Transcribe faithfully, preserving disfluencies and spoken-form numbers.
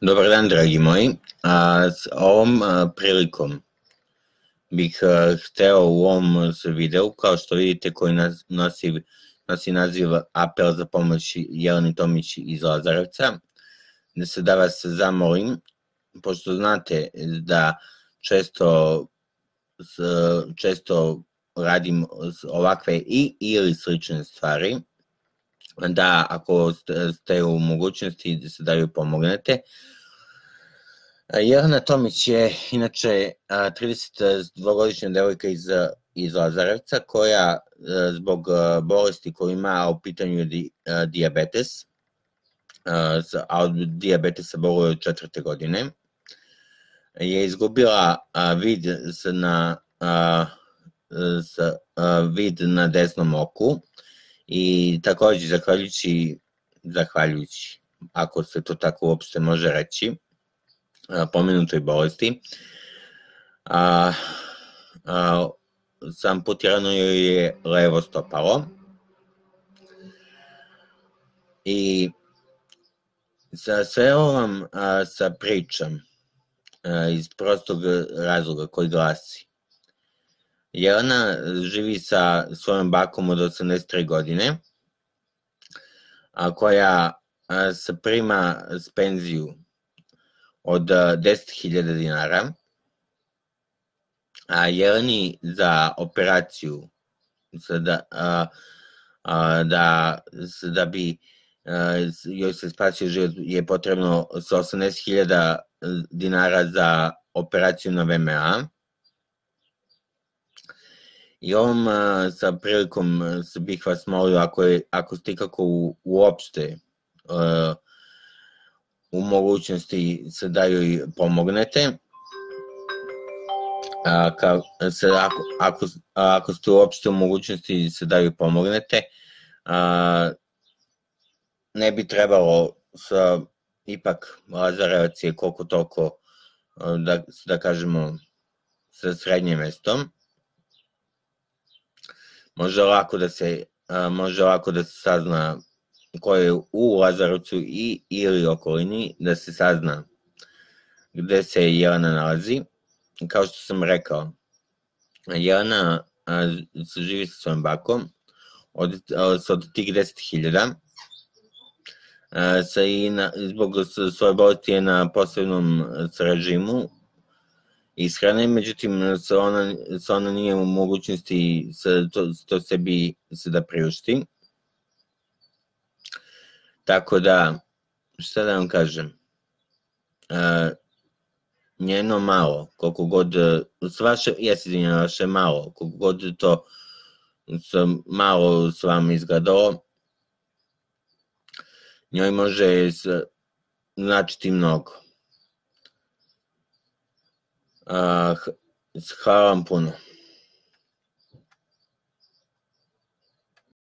Dobar dan, dragi moji. A, s ovom a, prilikom bih a, hteo u ovom videu, kao što vidite, koji nas, nosi, nosi naziv Apel za pomoć Jeleni Tomić iz Lazarevca, da se da vas zamolim, pošto znate da često, često radim ovakve i ili slične stvari, da ako ste u mogućnosti da se da joj pomognete. Jelena Tomić je inače tridesetdvogodišnja devojka iz, iz Lazarevca koja zbog bolesti koju ima, a u pitanju je dijabetes, a od dijabetesa boluje od četvrte godine, je izgubila vid na, vid na desnom oku i takođe zahvaljujući, zahvaljujući, ako se to tako uopšte može reći, pomenutoj bolesti, a, a, amputirano joj je levo stopalo i sa sve ovom a, sa pričam a, iz prostog razloga koji glasi: Jelena živi sa svojom bakom od osamdeset tri godine, a koja a, se prima s penziju od deset hiljada dinara, a Jeleni za operaciju da, a, a, da, da bi a, joj se spasio život je potrebno sa osamdeset hiljada dinara za operaciju na V M A. I ovom a, sa prilikom bih vas molio, ako, je, ako ste ikako u, uopšte a, u mogućnosti se da joj pomognete, a, ka, se, ako, ako, ako ste uopšte u mogućnosti se da joj pomognete, a, ne bi trebalo sa, ipak Lazarevac je koliko toliko, da, da kažemo, sa srednjim mestom, može lako da se, a, može lako da se sazna ko je u Lazarevcu i ili okolini, da se sazna gde se Jelena nalazi. Kao što sam rekao, Jelena a, živi sa svojom bakom od, od tih deset hiljada, sa i na, zbog svoje bolesti je na posebnom režimu ishrane, međutim ona, ona nije u mogućnosti to, to sebi se da priušti. Tako da, šta da vam kažem, uh, njeno malo, koliko god, s vaše, ja se izvinjam, vaše malo, koliko god to sam malo s vama izgledalo, njoj može značiti mnogo. Uh, hvala vam puno.